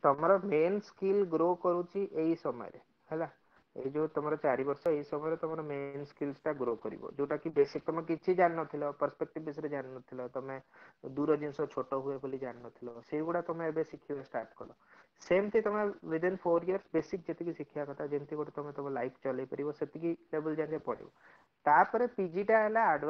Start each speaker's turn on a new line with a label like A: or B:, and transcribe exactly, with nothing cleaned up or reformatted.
A: ତମର main skill grow କରୁଛି ଏଇ ସମୟରେ ହେଲା। ଏଇ ଯୋଉ ତମର ଚାରି ବର୍ଷ, ଏଇ ସମୟରେ ତମର ମେନ୍ ସ୍କିଲ୍ସ ଟା ଗ୍ରୋ କରିବ, ଯୋଉଟା କି ବେସିକ ତମେ କିଛି ଜାଣିନଥିଲ, ପର୍ସପେକ୍ଟିଭ ବିଷୟରେ ଜାଣିନଥିଲ, ତମେ ଦୂର ଜିନିଷ ଛୋଟ ହୁଏ ବୋଲି ଜାଣିନଥିଲ, ସେଇଗୁଡା ତମେ ଏବେ ଶିଖିବା ଷ୍ଟାର୍ଟ କଲ। ସେମିତି ତମେ ୱିଦିନ୍ ଫୋର ଇୟର୍ସ ବେସିକ ଯେତିକି ଶିଖିବା କଥା, ଯେମିତି ଗୋଟେ ତମେ ତମ ଲାଇଫ ଚଲେଇ ପାରିବ, ସେତିକି ଲେଭେଲ ଯାକେ ପଢିବ। ତାପରେ ପିଜି ଟା ହେଲା ଆଡଭାନ୍ସ।